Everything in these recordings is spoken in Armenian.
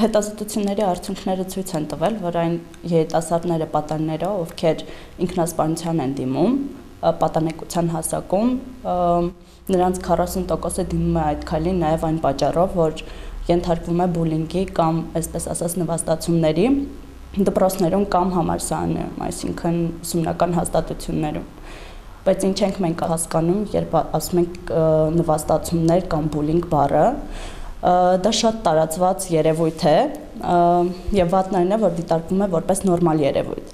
Հետազոտությունների արդյունքները ցույց են տվել, որ այն երիտասարդները պատանները, ովքեր ինքնասպանության են դիմում, պատանեկության հասակում, նրանց 40%-ը դիմում է այդ քայլին նաև այն պատճառով, որ ենթարկվում է բուլինգի կամ, այսպես ասած, նվաստացումների դպրոցներում կամ համալսարաններում, այսինքն ուսումնական հաստատություններում։ Բայց ինչ ենք մենք հասկանում, երբ ասում ենք նվաստացումներ կամ բուլինգ բառը, դա շատ տարածված երևույթ է եւ վատն այն է, որ դիտարկվում է որպես նորմալ երևույթ,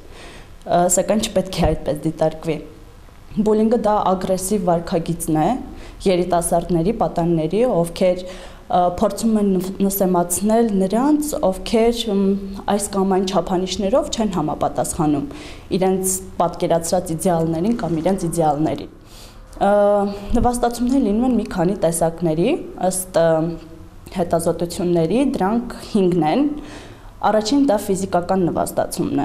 սակայն չպետք է այդպես դիտարկվի։ Բուլինգը դա ագրեսիվ վարքագիծն է երիտասարդների, պատանիների, ովքեր փորձում են նսեմացնել նրանց, ովքեր այս կամ այն չափանիշներով չեն համապատասխանում իրենց պատկերացրած իդեալներին կամ իրենց իդեալներին։ Նվաստացումներ լինում են մի քանի տեսակների, ըստ հետազոտությունների, դրանք 5-ն են։ Առաջին դա ֆիզիկական նվաստացումն է։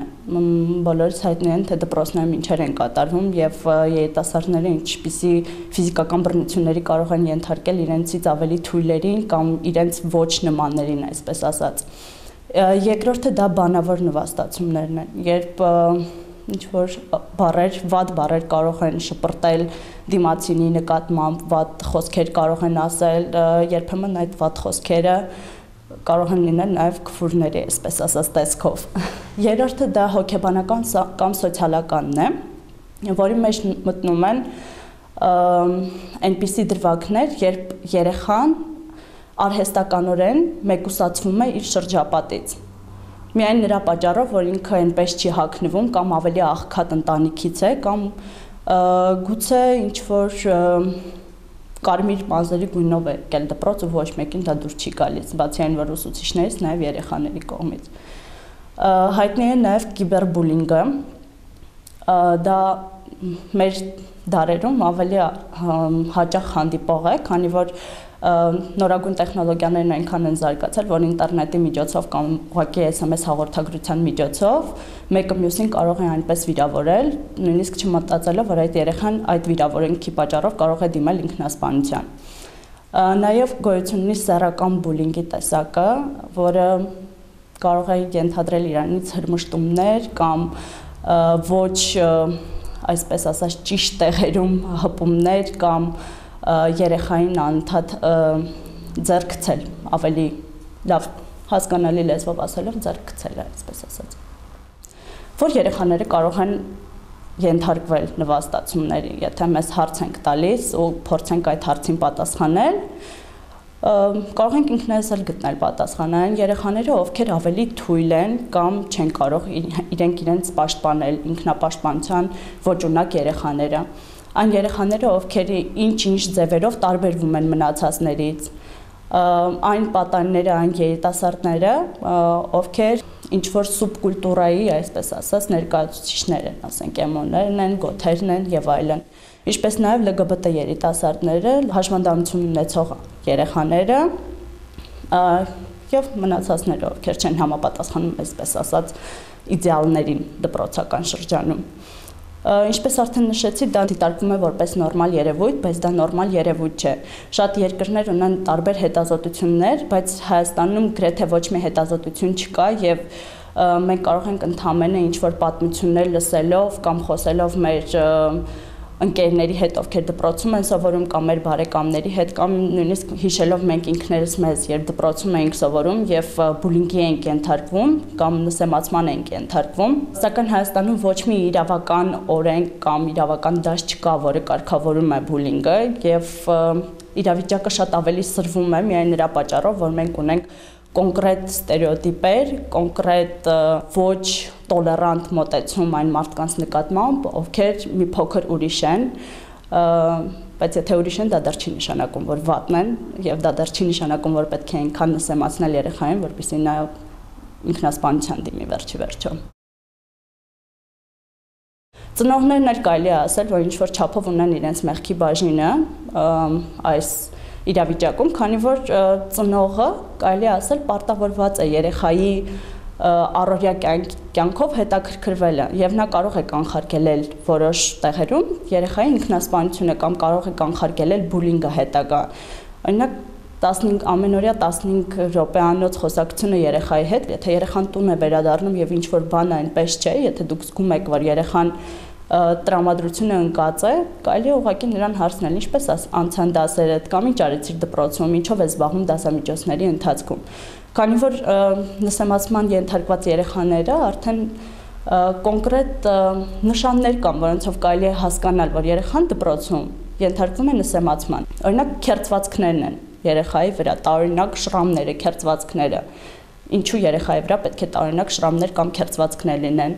Բոլորից հայտնի են, թե դպրոցներում ինչեր են կատարվում եւ երիտասարդները ինչպիսի ֆիզիկական բռնությունների կարող են ենթարկել իրենցից ավելի թույլերին կամ իրենց ոչ նմաններին, այսպես ասած։ Երկրորդը դա բանավոր նվաստացումներն են, երբ ինչ-որ բառեր, վատ բառեր կարող են շպրտել դիմացինի նկատմամբ, վատ խոսքեր կարող են ասել, երբեմն այդ վատ խոսքերը կարող են լինել նաև քֆուրների, այսպես ասած, տեսքով։ Երրորդը դա հոգեբանական կամ սոցիալականն է, որի մեջ մտնում են այնպիսի դրվագներ, երբ երեխան արհեստականորեն մեկուսացվում է իր շրջապատից։ Միայն նրա պատճառով, որ ինքը այնպես չի հագնվում կամ ավելի աղքատ ընտանիքից է, կամ գուցե ինչ-որ կարմիր մազերի գույնով է եկել դպրոց ու ոչ մեկին դա դուր չի գալիս, բացի այն, որ ուսուցիչներից, նաև երեխաների կողմից։ Հայտնի է նաև կիբերբուլինգը, դա մեր դարերում ավելի հաճախ հանդիպող է, քանի որ նորագույն տեխնոլոգիաներն այնքան են զարգացել, որ ինտերնետի միջոցով կամ ուղղակի SMS հաղորդագրության միջոցով մեկը մյուսին կարող է այնպես վիրավորել, նույնիսկ չմտածելով, որ այդ երեխան այդ վիրավորանքի պատճառով կարող է դիմել ինքնասպանության։ Նաև գոյություն ունի սեռական բուլինգի տեսակը, որը կարող է ենթադրել իրանից հրմշտումներ կամ ոչ, այսպես ասած, ճիշտ տեղերում հպումներ կամ երեխային անընդհատ ձեռք գցել, ավելի լավ հասկանալի լեզվով ասելով ձեռք գցել է, այսպես ասած։ Որ երեխաները կարող են ենթարկվել նվաստացումների, եթե մեզ հարց ենք տալիս ու փորձենք այդ հարցին պատասխանել, կարող ենք ինքներս էլ գտնել պատասխանը, այն երեխաները, ովքեր ավելի թույլ են կամ չեն կարող իրենց պաշտպանել, ինքնապաշտպանության ոչ ունակ երեխաները։ Այն երեխաները, ովքեր ինչ-ինչ ձևերով տարբերվում են մնացածներից, այն պատանիները, այն երիտասարդները, ովքեր ինչ-որ սուբկուլտուրայի, այսպես ասած, ներկայացուցիչներ են, ասենք, էմոներն են, գոթերն են եւ այլն։ Ինչպես նաեւ LGBT երիտասարդները, հաշմանդամություն ունեցող երեխաները եւ մնացածները, ովքեր չեն համապատասխանում, այսպես ասած, իդեալներին դպրոցական շրջանում։ Ինչպես արդեն նշեցի, դա դիտարկվում է որպես նորմալ երևույթ, բայց դա նորմալ երևույթ չէ։ Շատ երկրներ ունեն տարբեր հետազոտություններ, բայց Հայաստանում գրեթե ոչ մի հետազոտություն չկա եւ մենք կարող ենք ընդհանրապես ինչ-որ պատմություններ լսելով կամ խոսելով մեր ընկերների հետ, ովքեր դպրոցում են սովորում կամ մեր բարեկամների հետ կամ նույնիսկ հիշելով մենք ինքներս մեզ, երբ դպրոցում էինք սովորում եւ բուլինգի էինք ենթարկվում կամ նսեմացման էինք ենթարկվում, սակայն Հայաստանում ոչ մի իրավական օրենք կամ իրավական դաշտ չկա, որը կարգավորում է բուլինգը եւ իրավիճակը շատ ավելի սրվում է միայն նրա պատճառով, որ մենք ունենք կոնկրետ ստերեոտիպեր, կոնկրետ ոչ տոլերանտ մոտեցում այն մարդկանց նկատմամբ, ովքեր մի փոքր ուրիշ են, բայց եթե ուրիշ են, դա դեռ չի նշանակում, որ վատն են, եւ դա դեռ չի նշանակում, որ պետք է այնքան նսեմացնել երեխային, որպեսզի նա ինքնասպանության դիմի վերջի վերջո։ Ծնողներն էլ կարելի է ասել, որ ինչ-որ չափով ունեն իրենց մեղքի բաժինը այս իրավիճակում, քանի որ ծնողը կարելի է ասել պարտավորված է երեխայի առօրյա կյանքով հետաքրքրվելը եւ նա կարող է կանխարգելել որոշ տեղերում երեխայի ինքնասպանությունը կամ կարող է կանխարգելել բուլինգը հետագա։ Օրինակ 15 ամենօրյա 15 րոպեանոց խոսակցությունը երեխայի հետ, եթե երեխան տուն է վերադառնում եւ ինչ որ բան այնպես չէ, եթե դուք զգում եք, որ երեխան տրամադրությունը ընկած է, կարելի է ուղղակի նրան հարցնել, ինչպես անցան դասերդ կամ ինչ արեցիր դպրոցում, ինչով ես զբաղվում դասամիջոցների ընթացքում։ Քանի որ նսեմացման ենթարկված երեխաները արդեն կոնկրետ նշաններ կան, որոնցով կարելի է հասկանալ, որ երեխան դպրոցում ենթարկվում է նսեմացման։ Օրինակ քերծվածքներն են երեխայի վրա, տարօրինակ շրամները, քերծվածքները։ Ինչու երեխայի վրա պետք է տարօրինակ շրամներ կամ քերծվածքներ լինեն,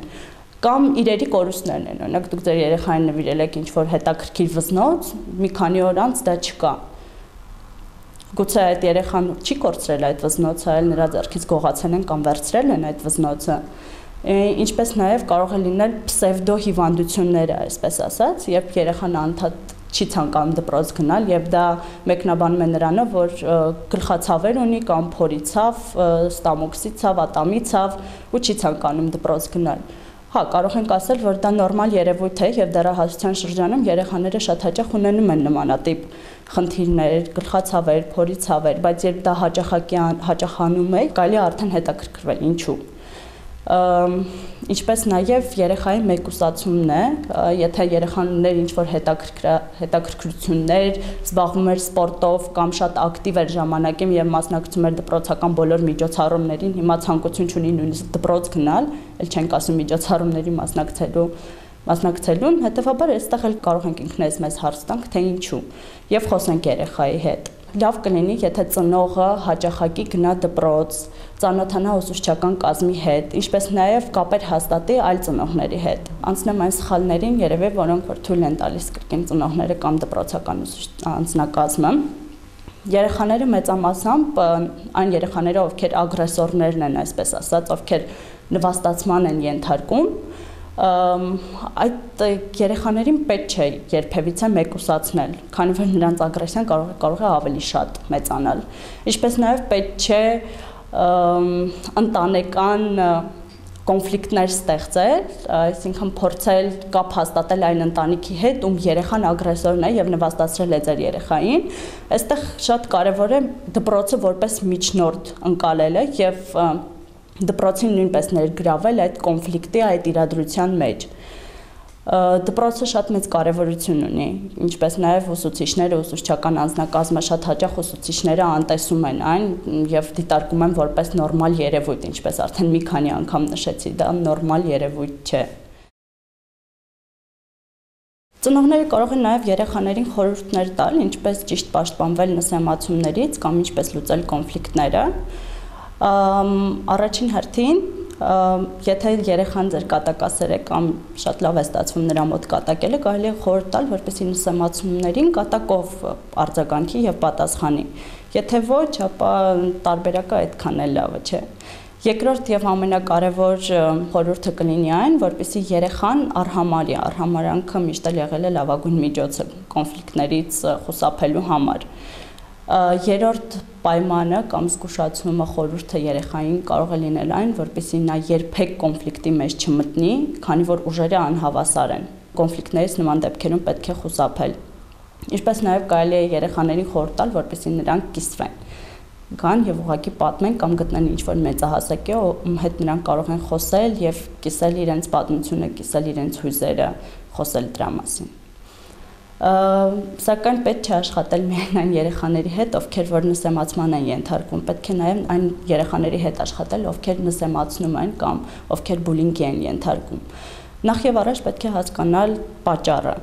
կամ իրերի կորուստներն են։ Օրինակ դուք ձեր երեխային նվիրել եք ինչ-որ հետաքրքիր վզնոց, մի քանի օր անց դա չկա։ Գուցե այդ երեխան չի կորցրել այդ վզնոցը, այլ նրա ձեռքից գողացել են կամ վերցրել են այդ վզնոցը։ Ինչպես նաև կարող է լինել պսևդո հիվանդությունները, այսպես ասած, երբ երեխան անդադ չի ցանկանում դպրոց գնալ եւ դա մեկնաբանում է նրանով, որ գլխացավեր ունի կամ փորի ցավ, ստամոքսի ցավ, ատամի ցավ ու չի ցանկանում դպրոց գնալ։ Հա, կարող ենք ասել, որ դա նորմալ երևույթ է եւ դեռահասության շրջանում երեխաները շատ հաճախ ունենում են նմանատիպ խնդիրներ, գլխացավեր, փորի ցավեր, բայց երբ դա հաճախանում է, կարելի է արդեն հետաքրքրվել ինչու։ Ինչպես նաև երեխայի մեկուսացումն է, եթե երեխաներ ինչ-որ հետաքրքրություններ, զբաղվում էր սպորտով կամ շատ ակտիվ էր ժամանակին եւ մասնակցում էր դպրոցական բոլոր միջոցառումներին, հիմա ցանկություն չունի նույնիսկ դպրոց գնալ, ել չենք ասում միջոցառումների մասնակցելուն, հետեւաբար այստեղ էլ կարող ենք ինքներս մեզ հարց տանք, թե ինչու, եւ խոսենք երեխայի հետ։ Լավ կլինի, եթե ծնողը հաճախակի գնա դպրոց, ծանոթանա ուսուցչական կազմի հետ, ինչպես նաև կապեր հաստատի այլ ծնողների հետ։ Անցնեմ այն սխալներին, երևի, որոնք որ թույլ են տալիս կրկին ծնողները կամ դպրոցական անձնակազմը։ Երեխաները մեծամասամբ այն երեխաները, ովքեր ագրեսորներն են, այսպես ասած, ովքեր նվաստացման են ենթարկում, այդ երեխաներին պետք չէ երբևիցե մեկուսացնել, քանի որ նրանց ագրեսիան կարող է ավելի շատ մեծանալ։ Ինչպես նաև պետք չէ ընտանեկան կոնֆլիկտներ ստեղծել, այսինքն փորձել կապ հաստատել այն ընտանիքի հետ, ում երեխան ագրեսորն է եւ նվաստացրել է ձեր երեխային։ Այստեղ շատ կարեւոր է դպրոցը որպես միջնորդ ընկալելը եւ դպրոցին նույնպես ներգրավել այդ կոնֆլիկտի, այդ իրադրության մեջ։ Դպրոցը շատ մեծ կարևորություն ունի, ինչպես նաև ուսուցիչները, ուսուցչական անձնակազմը շատ հաճախ ուսուցիչները անտեսում են այն եւ դիտարկում են որպես նորմալ երևույթ, ինչպես արդեն մի քանի անգամ նշեցի, դա նորմալ երևույթ չէ։ Ծնողները կարող են նաև երեխաներին խորհուրդներ տալ, ինչպես ճիշտ պաշտպանվել նսեմացումներից կամ ինչպես լուծել կոնֆլիկտները։ Առաջին հերթին, եթե երեխան ձեր կատակասեր է կամ շատ լավ է ստացվում նրա մոտ կատակելը, կարելի է խորհուրդ տալ, որպեսզի նսեմացումներին կատակով արձագանքի եւ պատասխանի։ Եթե ոչ, ապա տարբերակը այդքան էլ լավը չէ։ Երկրորդ եւ ամենակարևոր խորհուրդը կլինի այն, որպեսզի երեխան արհամարյանքը միշտ եղել է լավագույն միջոցը կոնֆլիկտներից խուսափելու համար։ Երրորդ պայմանը կամ զգուշացումը խորհուրդը երեխային կարող է լինել այն, որպեսզի նա երբեք կոնֆլիկտի մեջ չմտնի, քանի որ ուժերը անհավասար են։ Կոնֆլիկտներից նման դեպքերում պետք է խուսափել։ Ինչպես նաև կարելի է երեխաներին խորհուրդ տալ, որպեսզի նրանք կիսվեն, գան եւ ուղղակի պատմեն կամ գտնեն ինչ-որ մեծահասակի, ում հետ նրանք կարող են խոսել եւ կիսել իրենց պատմությունը, կիսել իրենց հույզերը, խոսել դրա մասին։ Սակայն պետք չէ աշխատել միայն այն երեխաների հետ, ովքեր որ նսեմացման են ենթարկվում, պետք է նաև այն երեխաների հետ աշխատել, ովքեր նսեմացնում են կամ ովքեր բուլինգի են ենթարկվում։ Նախ եւ առաջ պետք է հասկանալ պատճառը։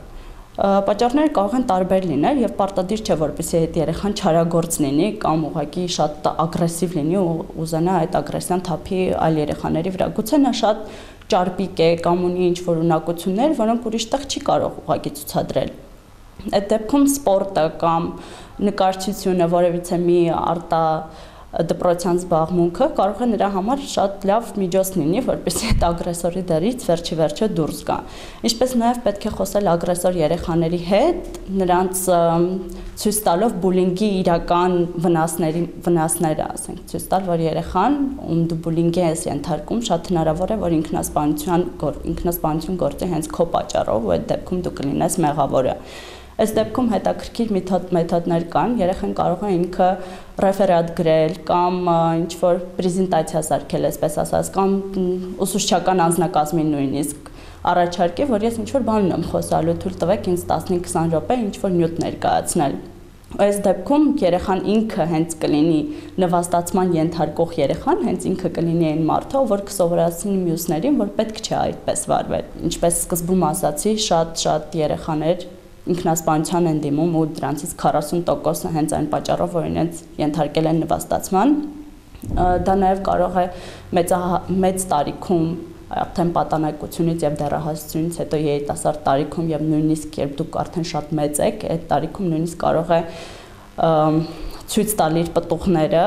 Պատճառները կարող են տարբեր լինել եւ պարտադիր չէ, որպեսզի այդ երեխան չարագործ լինի կամ ուղղակի շատ ագրեսիվ լինի ու ուզենա այդ ագրեսիան թափի այլ երեխաների վրա։ Գուցե նա շատ ճարպիկ է կամ ունի ինչ-որ ունակություններ, որոնք ուրիշ տեղ չի կարող ուղղակի ցուցադրել։ Այդ դեպքում սպորտը կամ նկարչությունը, որևիցե մի արտադպրոցյան զբաղմունքը կարող է նրա համար շատ լավ միջոց լինի, որպեսզի այդ ագրեսորի դերից վերջիվերջո դուրս գա։ Ինչպես նաև պետք է խոսել ագրեսոր երեխաների հետ, նրանց ցույց տալով բուլինգի իրական վնասները, ասենք, ցույց տալ, որ երեխան, ում դու բուլինգի ես ենթարկում, շատ հնարավոր է, որ ինքնասպանություն գործի հենց քո պատճառով, ու այդ դեպքում դու կլինես մեղավորը։ Այս դեպքում հետաքրքիր մեթոդներ կան, երեխան կարող է ինքը ռեֆերատ գրել կամ ինչ-որ պրեզենտացիա սարքել, այսպես ասած, կամ ուսուցչական անձնակազմին նույնիսկ առաջարկի, որ ես ինչ-որ բան ունեմ խոսալու, թույլ տվեք ինձ 15-20 րոպե ինչ-որ նյութ ներկայացնել։ Այս դեպքում երեխան ինքը հենց կլինի նվաստացման ենթարկող երեխան, հենց ինքը կլինի այն մարդը, որ կսովորացնի մյուսներին, որ պետք չէ այդպես վարվել։ Ինչպես սկզբում ասացի, շատ երեխաներ ինքնասպանության են դիմում ու դրանցից 40%-ը հենց այն պատճառով, որ իրենց ենթարկել են նվաստացման։ Դա նաև կարող է մեծ տարիքում արդեն պատանեկությունից եւ դեռահասությունից հետո երիտասարդ տարիքում եւ նույնիսկ երբ դուք արդեն շատ մեծ եք, այդ տարիքում նույնիսկ կարող է ցույց տալ իր պտուղները,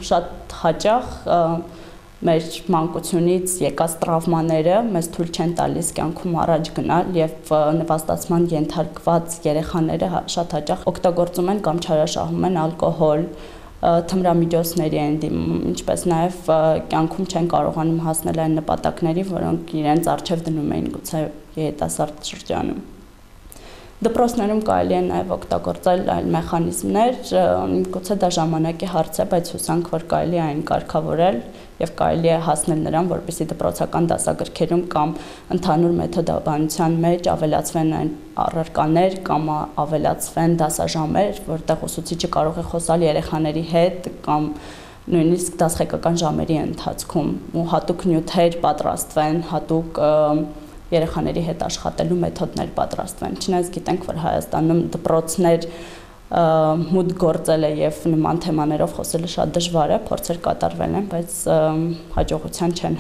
շատ հաճախ մեր մանկությունից եկած տրավմաները մեզ թույլ չեն տալիս կյանքում առաջ գնալ եւ նվաստացման ենթարկված երեխաները շատ հաճախ օգտագործում են կամ չարաշահում են ալկոհոլ, թմրամիջոցների են դիմում, ինչպես նաև կյանքում չեն կարողանում հասնել այն նպատակների, որոնք իրենց առջև դնում էին գուցե երիտասարդ շրջանում։ Դպրոցներում կարելի է նաև օգտագործել այլ մեխանիզմներ, գուցե դա ժամանակի հարց է, բայց հուսանք, որ կարելի է այն կարգավորել եւ կարելի է հասնել նրան, որպեսզի դպրոցական դասագրքերում կամ ընդհանուր մեթոդաբանության մեջ ավելացվեն այն առարկաներ կամ ավելացվեն դասաժամեր, որտեղ ուսուցիչը կարող է խոսալ երեխաների հետ կամ նույնիսկ դասղեկական ժամերի ընթացքում ու հատուկ նյութեր պատրաստվեն, հատուկ երեխաների հետ աշխատելու մեթոդներ պատրաստվեն։ Չնայած գիտենք, որ Հայաստանում դպրոցներ մուտք գործելը եւ նման թեմաներով խոսելը շատ դժվար է, փորձեր կատարվել են, բայց հաջողության չեն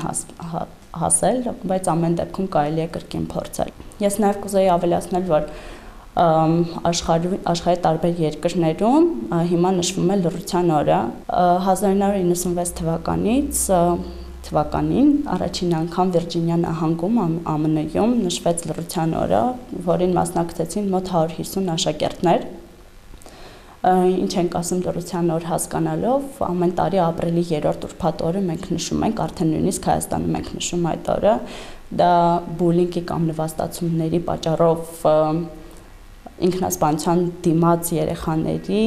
հասել, բայց ամեն դեպքում կարելի է կրկին փորձել։ Ես նաեւ կուզեի ավելացնել, որ աշխարհի տարբեր երկրներում հիմա նշվում է լռության օրը 1996 թվականին առաջին անգամ Վիրջինիա նահանգում ԱՄՆ-ում նշվեց լռության օրը, որին մասնակցեցին մոտ 150 աշակերտներ։ Ինչ ենք ասում լռության օր հասկանալով, ամեն տարի ապրիլի 3-րդ ուրբաթ օրը մենք նշում ենք, արդեն նույնիսկ Հայաստանում ենք նշում այդ օրը, դա բուլինգի կամ նվաստացումների պատճառով ինքնասպանության դիմաց երեխաների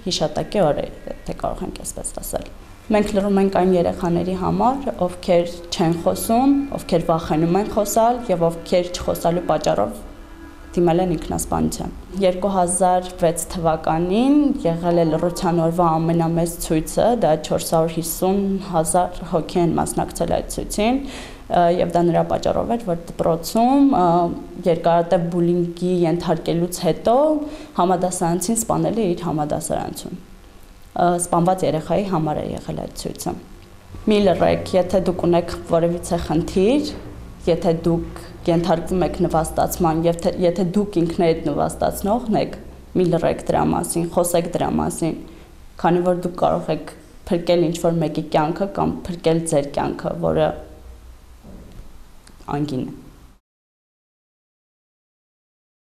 հիշատակի օր է, թե կարող ենք այսպես ասել։ Մենք լռում ենք այն երեխաների համար, ովքեր չեն խոսում, ովքեր վախենում են խոսալ եւ ովքեր չխոսալու պատճառով դիմել են ինքնասպանության։ 2006 թվականին եղել է լռության օրվա ամենամեծ ցույցը, դա 450,000 հոգի են մասնակցել այդ ցույցին, եւ դա նրա պատճառով էր, որ դպրոցում երկարատև բուլինգի ենթարկելուց հետո համադասարանցին սպանել է իր համադասարանցում։ Սպանված երեխայի համար է եղել այդ ցույցը։ Մի լռեք, եթե դուք ունեք որևիցե խնդիր, եթե դուք ենթարկվում եք նվաստացման, եթե դուք ինքներդ նվաստացնողն եք, մի լռեք դրա մասին, խոսեք դրա մասին, քանի որ դուք կարող եք փրկել ինչ-որ մեկի կյանքը կամ փրկել ձեր կյանքը, որը անգին է։